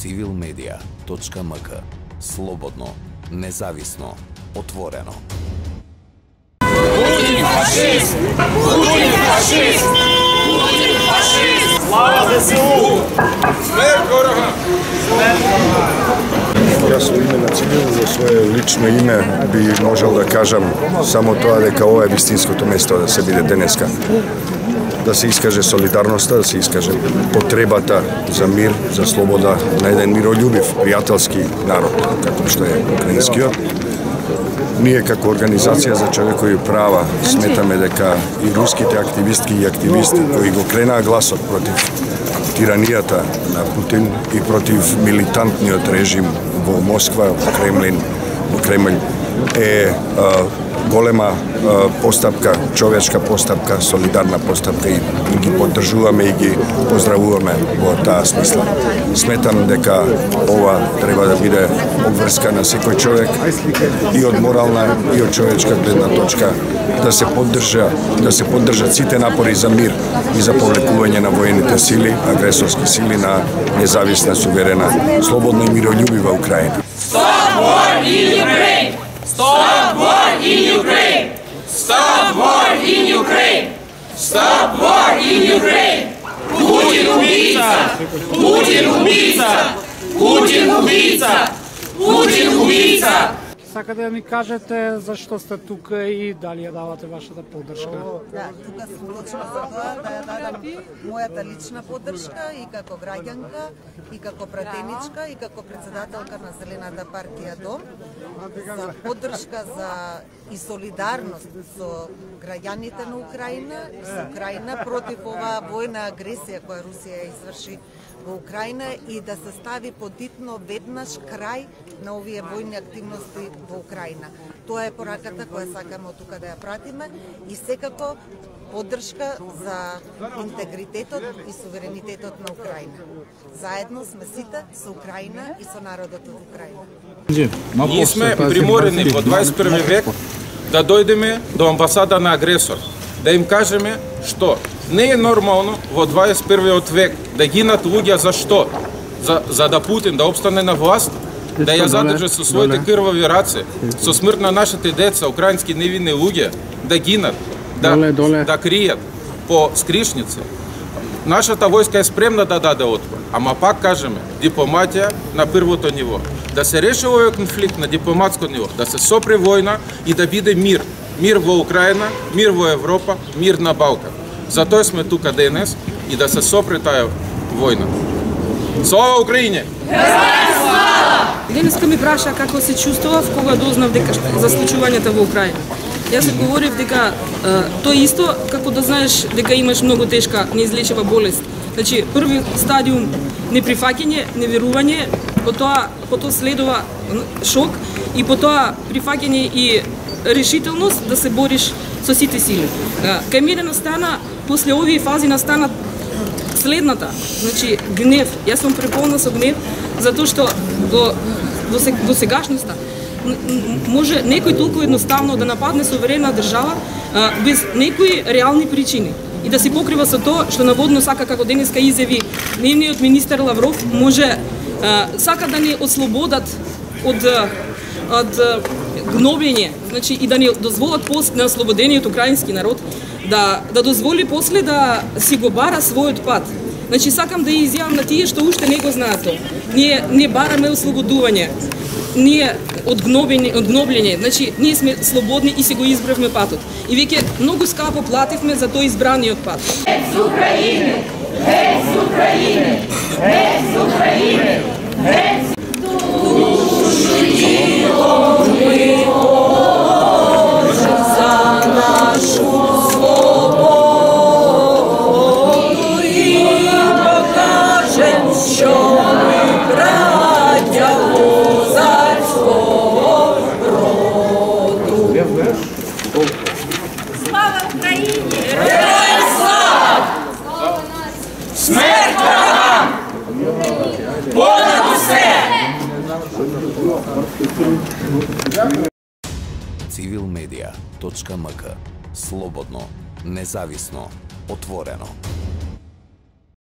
civilmedia.mk. Слободно, независно, отворено. Путин фашист! Путин фашист! Путин фашист! Слава ЗСУ! Смерть ворога! Јас во име на Цивил, во свое лично име, би можел да кажам само тоа дека ова е вистинското место да се биде денеска. Да се искаже солидарноста, да се искаже потребата за мир, за слобода на еден мирољубив, пријателски народ, како што е украинскиот. Ние како Организација за човекови права сметаме дека и руските активистки и активисти кои го кренаа гласот против тиранијата на Путин и против милитантниот режим во Москва, во Кремљ е голема постапка, човечка постапка, солидарна постапка и ги поддржуваме и ги поздравуваме во таа смисла. Сметам дека ова треба да биде обврска на секој човек и од морална и од човечка гледна точка да се поддржат сите напори за мир и за повлекување на воените сили, агресорски сили на независна, суверена, слободна и мирољубива Украина. Stop war in Ukraine! Stop war in Ukraine! Stop war in Ukraine! Stop war in Ukraine! Путин убийца! Путин убийца! Путин убийца! Путин убийца! Сакате да ми кажете зашто сте тука и дали ја давате вашата поддршка? Да, тука сум точно за тоа да ја дадам мојата лична поддршка и како граѓанка, и како пратеничка, и како председателка на Зелената партија Дом, за поддршка за и солидарност со граѓаните на Украина, со Украина против оваа војна агресија која Русија изврши во Украина и да се стави подитно веднаш крај на овие војни активности во Украина. Тоа е пораката која сакаме од тука да ја пратиме и секако поддршка за интегритетот и суверенитетот на Украина. Заедно сме сите со Украина и со народот од Украина. Ние сме приморени во 21 век да дојдеме до амбасада на агресор, да им кажеме што не е нормално во 21 век да гинат луѓе за што? За да Путин да обстане на власт, да ја задржи со своите крвави раце, со смрт на нашите деца, украински невинни луѓе, да гинат, да кријат по скришници. Нашата војска е спремна да даде отпор, ама пак кажеме, дипломатија на првото ниво. Да се реши овој конфликт на дипломатско ниво, да се сопре војна и да биде мир. Мир во Украина, мир во Европа, мир на Балкан. Затоа сме тука денес и да се сопре таа војна. Слава Украине! Денеска ми праша како се чувствував кога дознав дека за случувањето во Украина. Јас одговорив дека тоа исто како да знаеш дека имаш многу тешка неизлечива болест. Значи први стадиум неприфаќање, неверување, потоа следува шок и потоа прифаќање и решителност да се бориш со сите сили. Кај мене настана, после овие фази настана следната, значи гнев. Јас сум преполна со гнев, затоа што до сегашноста може некој толку едноставно да нападне суверена држава без некои реални причини и да се покрива со тоа што наводно сака, како денеска изјави нивниот министер Лавров, може сака да ни ослободат од гнобење, значи и да ни дозволат после на ослободениот украински народ да дозволи после да си го бара својот пат. Значи сакам да изјавам на тие што уште не го знаат тоа. Ние не бараме ослободување. Ние од гноблење, значи ние сме слободни и си го избравме патот. И веќе многу скапо плативме за тој избраниот пат. Без Украины! Без Украины! Без Украины! Без Слава Україні! Героям слава! Смерть ворогам! Понад усе! civilmedia.mk. Слободно, независно, отворено.